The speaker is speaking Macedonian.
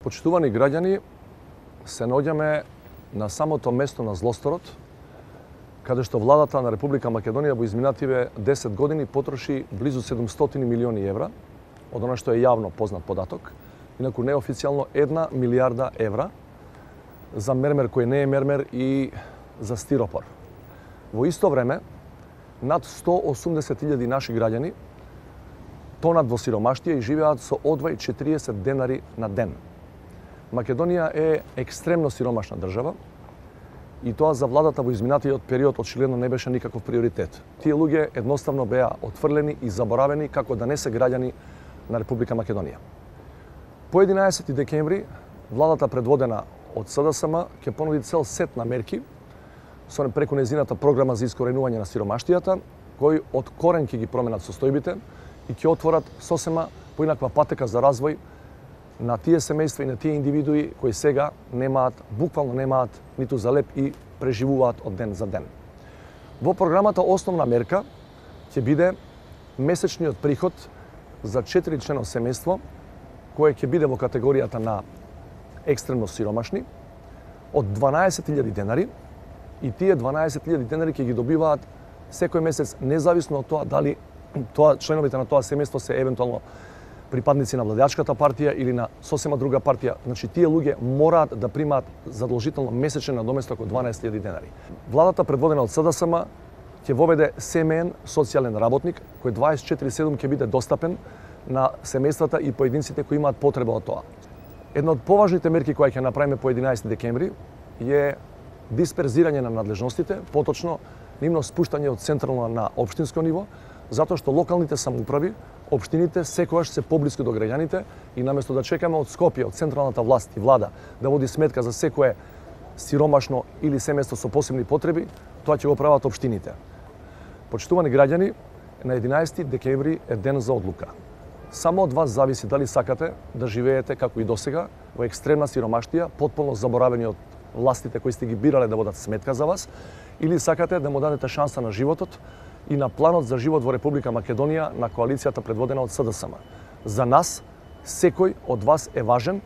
Почитувани граѓани, се наоѓаме на самото место на злосторот, каде што владата на Република Македонија во изминативе 10 години потроши близу 700 милиони евра, од она што е јавно познат податок, инаку неофицијално 1 милијарда евра за мермер кој не е мермер и за стиропор. Во исто време, над 180.000 наши граѓани тонат во сиромаштија и живеат со одвај 40 денари на ден. Македонија е екстремно сиромашна држава и тоа за владата во изминатиот период очигледно не беше никаков приоритет. Тие луѓе едноставно беа отфрлени и заборавени како да не се граѓани на Република Македонија. По 11 декември владата предводена од СДСМ ќе понуди цел сет на мерки со преку нејзината програма за искоренување на сиромаштијата, кои од корен ќе ги променат состојбите и ќе отворат сосема поинаква патека за развој на тие семејства и на тие индивидуи кои сега буквално немаат ниту за леп и преживуваат од ден за ден. Во програмата основна мерка ќе биде месечниот приход за 4-члено семејство кое ќе биде во категоријата на екстремно сиромашни од 12.000 денари и тие 12.000 денари ќе ги добиваат секој месец независно од тоа дали членовите на тоа семејство се евентуално припадници на владеачката партија или на сосема друга партија. Значи, тие луѓе мораат да примаат задолжително месечен надоместок од 12.000 денари. Владата предводена од СДСМ ќе воведе семеен социјален работник кој 24/7 ќе биде достапен на семејствата и поединците кои имаат потреба од тоа. Една од поважните мерки која ќе направиме по 11 декември е дисперзирање на надлежностите, поточно нивно спуштање од централно на општинско ниво, затоа што локалните самоуправи, општините секогаш се поблиску до граѓаните и наместо да чекаме од Скопје, од централната власт и влада да води сметка за секое сиромашно или семејство со посебни потреби, тоа ќе го прават општините. Почитувани граѓани, на 11 декември е ден за одлука. Само од вас зависи дали сакате да живеете како и досега во екстремна сиромаштија, потполно заборавени од властите кои сте ги бирале да водат сметка за вас, или сакате да му дадете шанса на животот и на планот за живот во Република Македонија на коалицијата предводена од СДСМ. За нас, секој од вас е важен